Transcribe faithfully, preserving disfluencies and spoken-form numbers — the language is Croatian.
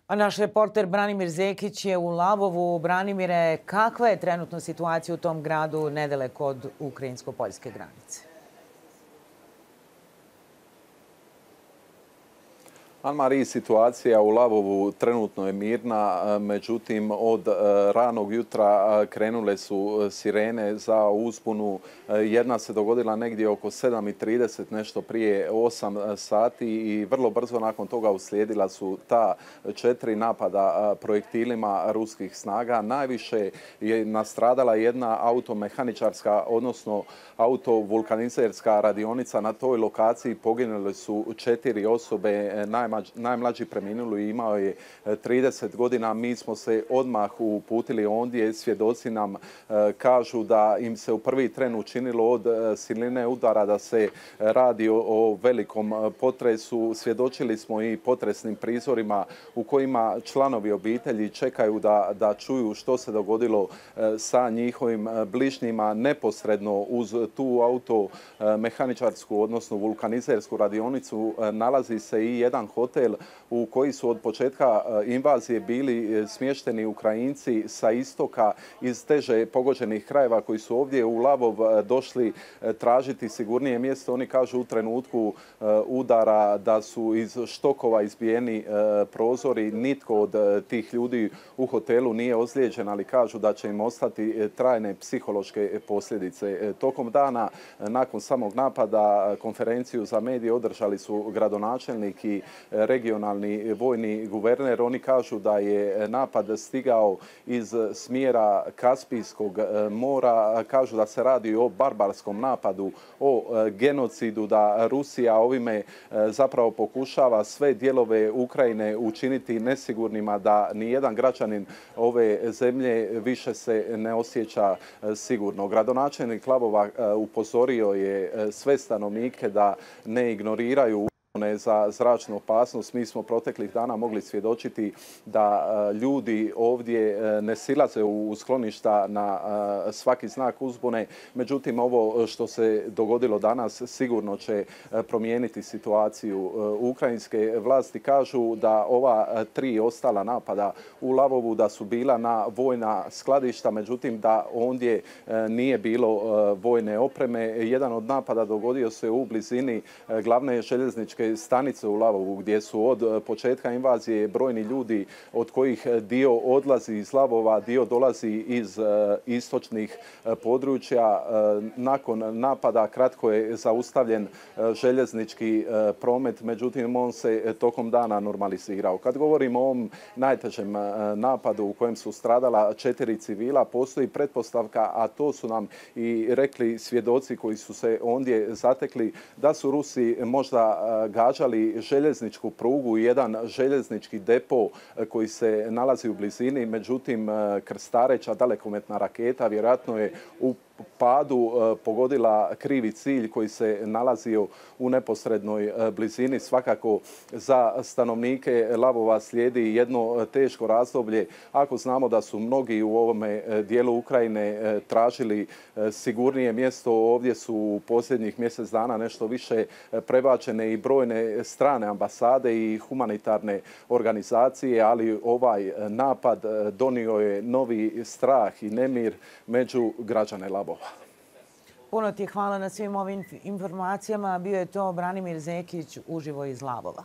A naš reporter Branimir Zekić je u Lavovu. Branimire, kakva je trenutno situacija u tom gradu nedaleko od ukrajinsko-poljske granice? Anne-Marie, situacija u Lavovu trenutno je mirna, međutim od ranog jutra krenule su sirene za uzbunu. Jedna se dogodila negdje oko sedam i trideset, nešto prije osam sati i vrlo brzo nakon toga uslijedila su ta četiri napada projektilima ruskih snaga. Najviše je nastradala jedna automehaničarska, odnosno autovulkanizerska radionica. Na toj lokaciji poginule su četiri osobe, najmlađi preminuli imao je trideset godina. Mi smo se odmah uputili ondje. Svjedoci nam kažu da im se u prvi tren učinilo od siline udara da se radi o velikom potresu. Svjedočili smo i potresnim prizorima u kojima članovi obitelji čekaju da, da čuju što se dogodilo sa njihovim bližnjima. Neposredno uz tu automehaničarsku, odnosno vulkanizersku radionicu nalazi se i jedan hotel u koji su od početka invazije bili smješteni Ukrajinci sa istoka iz teže pogođenih krajeva koji su ovdje u Lavov došli tražiti sigurnije mjesto. Oni kažu u trenutku udara da su iz štokova izbijeni prozori. Nitko od tih ljudi u hotelu nije ozlijeđen, ali kažu da će im ostati trajne psihološke posljedice. Tokom dana, nakon samog napada, konferenciju za medije održali su gradonačelnik i regionalni vojni guverner. Oni kažu da je napad stigao iz smjera Kaspijskog mora. Kažu da se radi o barbarskom napadu, o genocidu, da Rusija ovime zapravo pokušava sve dijelove Ukrajine učiniti nesigurnima, da nijedan građanin ove zemlje više se ne osjeća sigurno. Gradonačelnik Lavova upozorio je sve stanovnike da ne ignoriraju za zračnu opasnost. Mi smo proteklih dana mogli svjedočiti da ljudi ovdje ne silaze u skloništa na svaki znak uzbune. Međutim, ovo što se dogodilo danas sigurno će promijeniti situaciju. Ukrajinske vlasti kažu da ova tri ostala napada u Lavovu da su bila na vojna skladišta, međutim da ondje nije bilo vojne opreme. Jedan od napada dogodio se u blizini glavne željezničke stanice u Lavovu, gdje su od početka invazije brojni ljudi, od kojih dio odlazi iz Lavova, dio dolazi iz istočnih područja. Nakon napada kratko je zaustavljen željeznički promet, međutim on se tokom dana normalizirao. Kad govorimo o ovom najtežem napadu u kojem su stradala četiri civila, postoji pretpostavka, a to su nam i rekli svjedoci koji su se ondje zatekli, da su Rusi možda gađali željezničku prugu i jedan željeznički depo koji se nalazi u blizini. Međutim, krstareća dalekometna raketa vjerojatno je u padu pogodila krivi cilj koji se nalazio u neposrednoj blizini. Svakako za stanovnike Lavova slijedi jedno teško razdoblje. Ako znamo da su mnogi u ovome dijelu Ukrajine tražili sigurnije mjesto, ovdje su u posljednjih mjesec dana nešto više prebačene i brojne strane ambasade i humanitarne organizacije, ali ovaj napad donio je novi strah i nemir među građane Lavova. Puno ti hvala na svim ovim informacijama. Bio je to Branimir Zekić uživo iz Lavova.